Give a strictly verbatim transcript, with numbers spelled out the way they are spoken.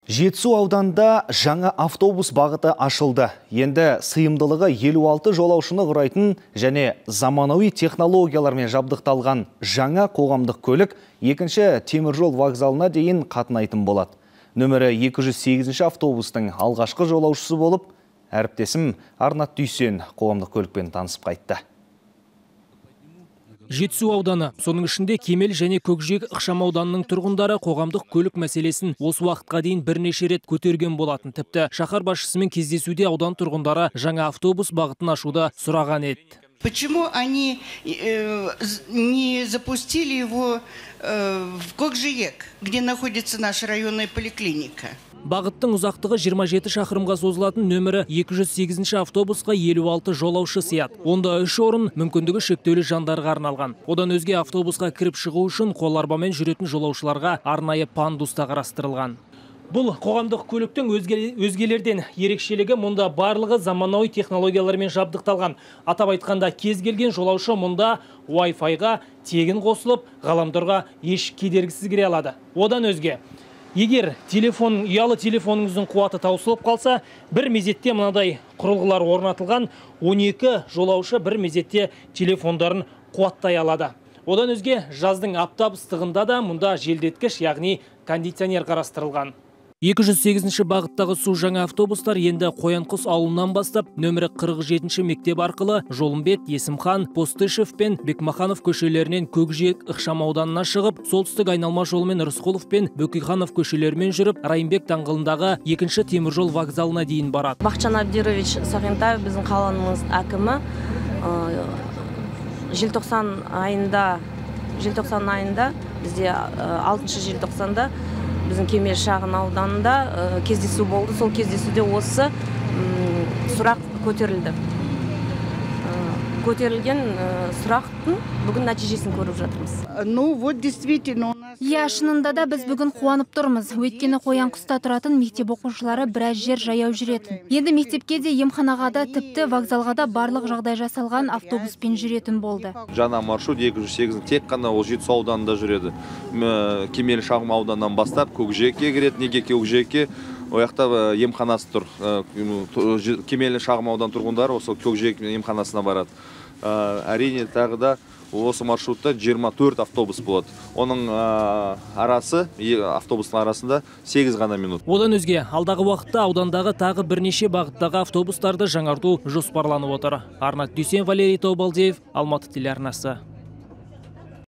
Жетісу ауданында жаңа автобус бағыты ашылды. Енді сыйымдылығы елу алты жолаушыны құрайтын және заманауи технологиялармен жабдықталған жаңа қоғамдық көлік екінші теміржол вокзалына дейін қатынайтын болады. Нөмірі екі жүз сегізінші автобустың алғашқы жолаушысы болып, әріптесім Арнат Дүйсен қоғамдық көлікпен танысып қайтты. Жетісу ауданы, соның ішінде Кемел және Көкжиек ықшамауданының тұрғындары қоғамдық көлік мәселесін осы уақытқа дейін бірнеше рет көтерген болатын. Тіпті шаһар басшысымен кездесуде аудан тұрғындары жаңа автобус бағытын ашуды сұраған еді. Почему они э, не запустили его э, в Көкжиек, где находится наша районная поликлиника? Бағыттың ұзақтығы жиырма жеті шақырымға созылатын нөмірі екі жүз сегізінші автобусқа елу алты жолаушы сияды. Онда үш орын мүмкіндігі шектеулі жандарға арналған. Одан өзге автобусқа кіріп шығу үшін қоларбамен жүретін жолаушыларға арнайы пандус та қарастырылған. Бұл қоғамдық көліктің өзгелерден ерекшелігі мұнда барлығы заманауи технологиялармен жабдықталған. Атап айтқанда кез келген жолаушы мұнда Wi-Fi-ға тегін қосылып, ғаламторға еш кедергісіз кіре алады. Одан өзге, егер телефон, ұялы телефоныңыздың қуаты таусылып қалса, бір мезетте мынадай құрылғылар орнатылған, он екі жолаушы бір мезетте телефондарын қуаттай алады. Одан өзге, жаздың аптап ыстығында да мұнда желдеткіш, яғни кондиционер қарастырылған. екі жүз сегізінші бағыттағы су жаңа автобустар енді Қоянқұс ауылынан бастап нөмірі қырық жетінші мектеп арқылы Жолымбет, Есімхан, Постышев пен Бекмаханов көшелерінен Көкжиек ықшамауданына шығып, солтүстік айналма жолымен Рысқұлов пен Бөкейханов көшелерімен жүріп, Райымбек даңғылындағы екінші теміржол вокзалына дейін барады. Бақытжан Абдирович Сағентаев біздің қаланың әкімі желтоқсан айында желтоқсан айында бізде алтыншы желтоқсанда біздің Кемел шағын ауданында кездесу болды. Сол кездесуде осы сұрақ көтерілді. Көтерілген сұрақтың бүгін нәтижесін көріп жатырмыз. Ну, вот действительно у нас... Я, шынында да біз бүгін қуанып тұрмыз. Өйткені Қоянқұста тұратын мектеп оқушылары біраз жер жаяу жүретін. Енді мектепке де, емханаға да, тіпті вокзалға да барлық жағдай жасалған автобуспен жүретін болды. Жаңа маршрут екі жүз сегіз тек қана ол Жетісу ауданында жүреді. Кемел шағын ауданынан бастап Көкжиекке кіреді. Неге Көкжиекке? Ояқта емханасы тұр. Кемел шағын аудан тұрғындары осы Көкжиек емханасына барады. Әрине тағы да осы маршрутта жиырма төрт автобус болады. Оның арасы, автобустың арасында сегіз ғана минут. Одан өзге, алдағы уақытта аудандағы тағы бірнеше бағыттағы автобустарды жаңарту жоспарланып отыр. Арнат Дүйсен, Валерий Тобалдиев, Алматы телеарнасы.